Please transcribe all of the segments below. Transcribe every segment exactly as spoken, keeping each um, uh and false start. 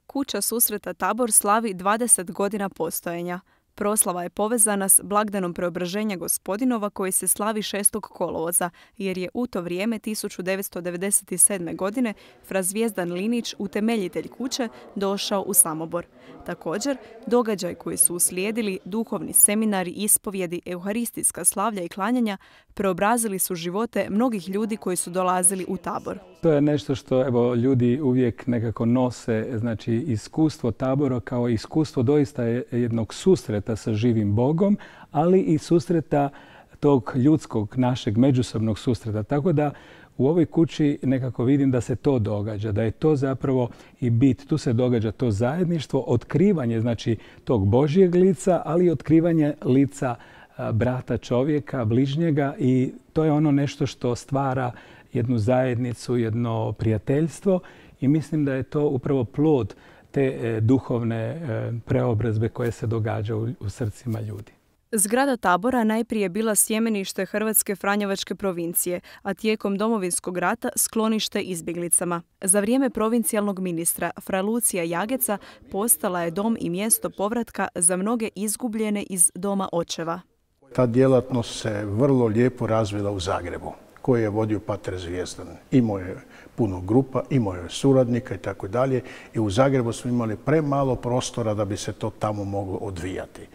Kuća susreta Tabor slavi dvadeset godina postojanja. Proslava je povezana s blagdanom Preobraženja Gospodinova koji se slavi šestog kolovoza, jer je u to vrijeme tisuću devetsto devedeset sedme. godine fra Zvijezdan Linić, utemeljitelj kuće, došao u Samobor. Također, događaj koji su uslijedili, duhovni seminari, ispovjedi, euharistijska slavlja i klanjanja, preobrazili su živote mnogih ljudi koji su dolazili u Tabor. To je nešto što evo, ljudi uvijek nekako nose, znači iskustvo Tabora kao iskustvo doista jednog susreta sa živim Bogom, ali i susreta tog ljudskog, našeg međusobnog susreta. Tako da u ovoj kući nekako vidim da se to događa, da je to zapravo i bit. Tu se događa to zajedništvo, otkrivanje znači tog Božjeg lica, ali i otkrivanje lica brata čovjeka, bližnjega, i to je ono nešto što stvara jednu zajednicu, jedno prijateljstvo, i mislim da je to upravo plod te duhovne preobrazbe koje se događa u srcima ljudi. Zgrada Tabora najprije bila sjemenište Hrvatske Franjevačke provincije, a tijekom Domovinskog rata sklonište izbjeglicama. Za vrijeme provincijalnog ministra fra Lucija Jageca postala je dom i mjesto povratka za mnoge izgubljene iz doma očeva. Ta djelatnost se vrlo lijepo razvila u Zagrebu, koji je vodio pater Zvijezdan. Imao je puno grupa, imao je suradnika i tako dalje. I u Zagrebu smo imali premalo prostora da bi se to tamo moglo odvijati.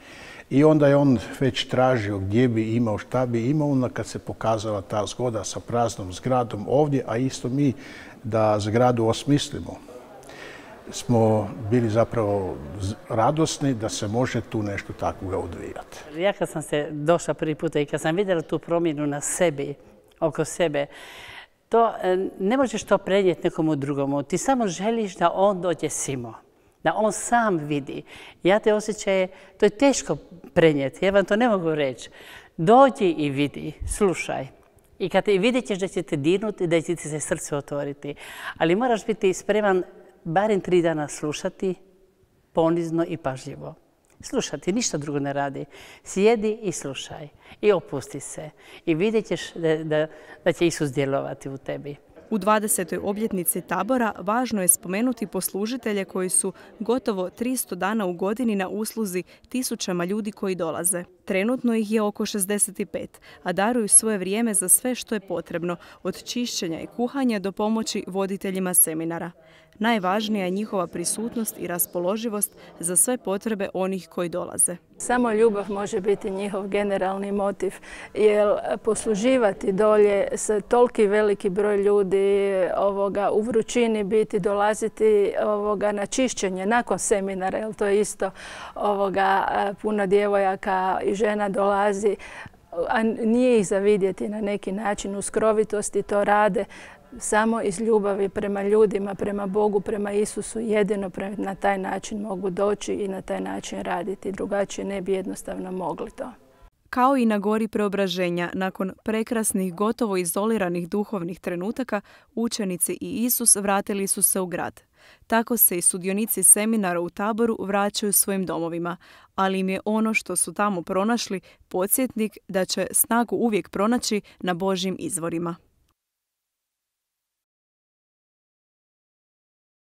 I onda je on već tražio gdje bi imao, šta bi imao, onda kad se pokazala ta zgoda sa praznom zgradom ovdje, a isto mi da zgradu osmislimo, smo bili zapravo radosni da se može tu nešto takvoga odvijati. Ja kad sam se došla prvi puta i kad sam vidjela tu promjenu na sebi, oko sebe, to ne možeš to prenijeti nekomu drugomu. Ti samo želiš da on dođe simo, da on sam vidi. Ja te osjećaje, to je teško prenijeti, ja vam to ne mogu reći. Dođi i vidi, slušaj. I kad te vidjet ćeš da će te dirnuti, da će ti se srce otvoriti. Ali moraš biti spreman barem tri dana slušati, ponizno i pažljivo. Slušati, ništa drugo ne radi. Sjedi i slušaj. I opusti se. I vidjet ćeš da, da, da će Isus djelovati u tebi. U dvadesetoj obljetnici Tabora važno je spomenuti poslužitelje koji su gotovo tristo dana u godini na usluzi tisućama ljudi koji dolaze. Trenutno ih je oko šezdeset pet, a daruju svoje vrijeme za sve što je potrebno, od čišćenja i kuhanja do pomoći voditeljima seminara. Najvažnija je njihova prisutnost i raspoloživost za sve potrebe onih koji dolaze. Samo ljubav može biti njihov generalni motiv, jer posluživati dolje sa toliki veliki broj ljudi ovoga, u vrućini biti, dolaziti ovoga, na čišćenje nakon seminara, jer to je isto ovoga, puno djevojaka i žena dolazi, a nije ih za vidjeti na neki način, u skrovitosti to rade, samo iz ljubavi prema ljudima, prema Bogu, prema Isusu, jedino na taj način mogu doći i na taj način raditi. Drugačije ne bi jednostavno mogli to. Kao i na gori Preobraženja, nakon prekrasnih, gotovo izoliranih duhovnih trenutaka, učenici i Isus vratili su se u grad. Tako se i sudionici seminara u Taboru vraćaju svojim domovima, ali im je ono što su tamo pronašli podsjetnik da će snagu uvijek pronaći na Božjim izvorima.